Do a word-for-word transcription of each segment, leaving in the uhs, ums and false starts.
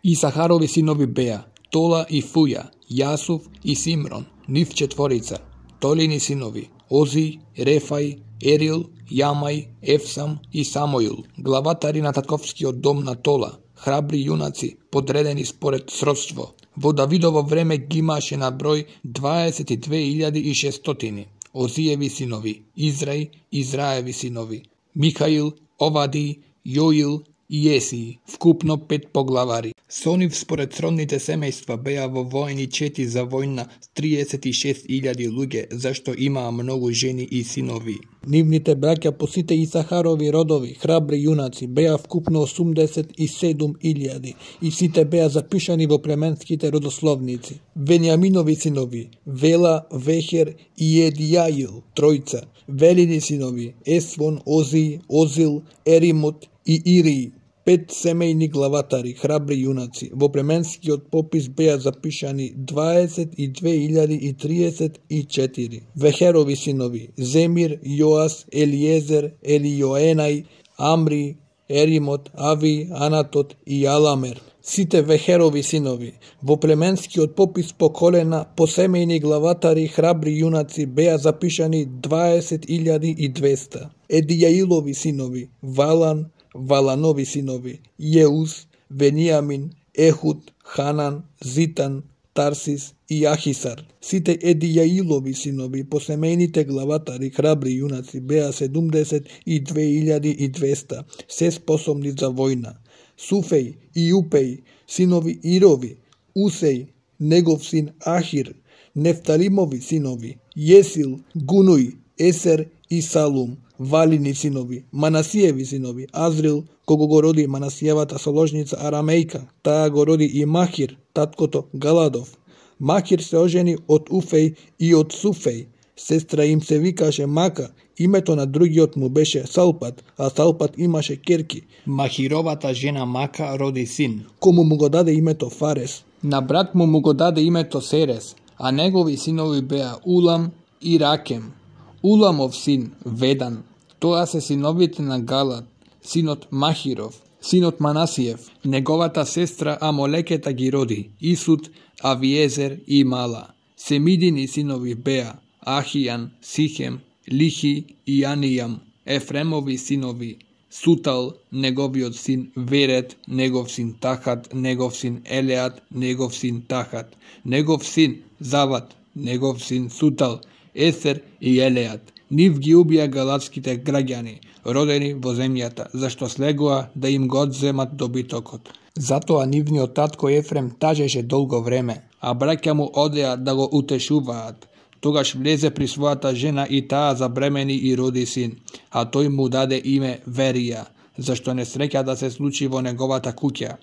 Исахарови синови беа Тола и Фуја, Јасув и Симрон, нив четворица. Толини синови Ози, Рефај, Ерил, Јамај, Ефсам и Самојул, главатари на татковскиот дом на Тола, храбри јунаци, подредени според сродство. Во Давидово време ги имаше на број дваесет и две илјади и шестстотини. Озиеви синови Израј, Израеви синови Михаил, Овади, Јоил и Есии, вкупно пет поглавари. Со нив според сродните семејства беа во воени чети за војна триесет и шест илјади луѓе, зашто имаа многу жени и синови. Нивните браќа по сите Исахарови родови, храбри јунаци, беа вкупно осумдесет и седум илјади и сите беа запишани во племенските родословници. Венијаминови синови Вела, Вехер и Едијаил, тројца. Велини синови Есвон, Ози, Озил, Еримот и Ирии, пет семејни главатари, храбри јунаци. Во племенскиот попис беа запишани дваесет и две илјади и триесет и четири. Вехерови синови Земир, Јоас, Елиезер, Елијоенај, Амри, Еримот, Ави, Анатот и Аламер. Сите Вехерови синови во племенскиот попис по колена, по семејни главатари, храбри јунаци беа запишани дваесет илјади и двеста. Едијаилови синови Валан, Валанови синови Јеус, Венијамин, Ехуд, Ханан, Зитан, Тарсис и Ахисар. Сите Едијаилови синови по семејните главатари, храбри јунаци беа седумдесет и две илјади и двеста, се способни за војна. Суфеј и Упеј, синови Ирови, Усеј, негов син Ахир, Нефталимови синови Јесил, Гунуј, Есер и Салум. Валини синови Манасиеви синови Азрил, кого го роди Манасиевата соложница Арамејка, таа го роди и Махир, таткото Галадов. Махир се ожени од Уфеј и од Суфеј. Сестра им се викаше Мака, името на другиот му беше Салпат, а Салпат имаше керки. Махировата жена Мака роди син, кому му го даде името Фарес. На брат му му го даде името Серес, а негови синови беа Улам и Ракем. Уламов син Ведан, тоа се синовите на Галад, синот Махиров, синот Манасиев. Неговата сестра Амолекета ги роди Исуд, Авиезер и Мала. Семидини синови беа Ахијан, Сихем, Лихи и Анијам. Ефремови синови Сутал, неговиот син Верет, негов син Тахат, негов син Елеат, негов син Тахат, негов син Зават, негов син Сутал, Есер и Елеат. Нив ги убија галатските граѓани, родени во земјата, зашто слегоа да им го одземат добитокот. Затоа нивниот татко Ефрем тажеше долго време, а браќа му одеа да го утешуваат. Тогаш влезе при својата жена и таа забремени и роди син, а тој му даде име Верија, зашто не среќа да се случи во неговата куќа.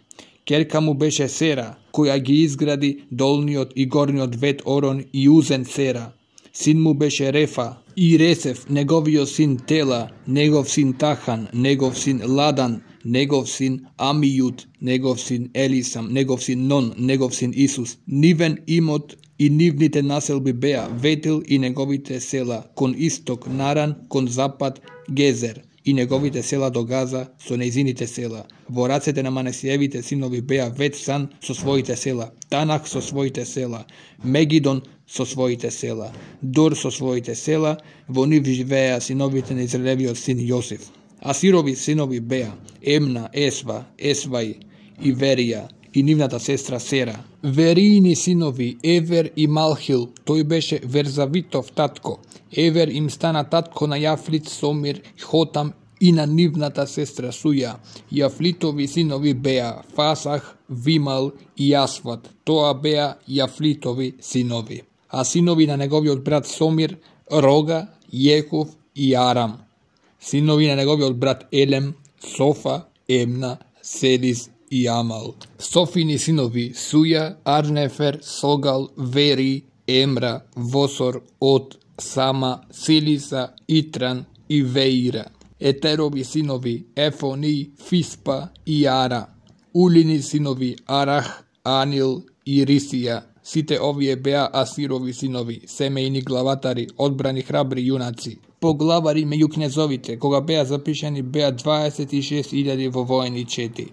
Керка му беше Сера, која ги изгради долниот и горниот вет Орон и Узен Сера. Син му беше Рефа и Ресев, неговиот син Тела, негов син Тахан, негов син Ладан, негов син Амијуд, негов син Елисам, негов син Нон, негов син Исус. Нивен имот и нивните населби беа Ветил и неговите села, кон исток Наран, кон запад Гезер и неговите села до Газа со нејзините села. Во рацете на Манасиевите синови беа Ветсан со своите села, Танах со своите села, Мегидон со своите села, Дор со своите села. Во нив живееа синовите на Израелевиот син Јосиф. Асирови синови беа Емна, Есва, Есвај и Верија и нивната сестра Сера. Вериини синови Евер и Малхил, тој беше Верзавитов татко. Евер им стана татко на Јафлит, Сомир, Хотам и на нивната сестра Суја. Јафлитови синови беа Фасах, Вимал и Јасват, тоа беа Јафлитови синови. А синови на неговиот брат Сомир, Рога, Јеков и Арам. Синови на неговиот брат Елем, Софа, Емна, Седис и Амал. Софини синови Суја, Арнефер, Согал, Вери, Емра, Восор, От, Сама, Силиса, Итран и Веира. Етерови синови Ефони, Фиспа и Ара. Улини синови Арах, Анил и Рисија. Сите овие беа Асирови синови, семејни главатари, одбрани храбри јунаци. Поглавари меѓу кнезовите, кога беа запишани, беа дваесет и шест илјади во воени чети.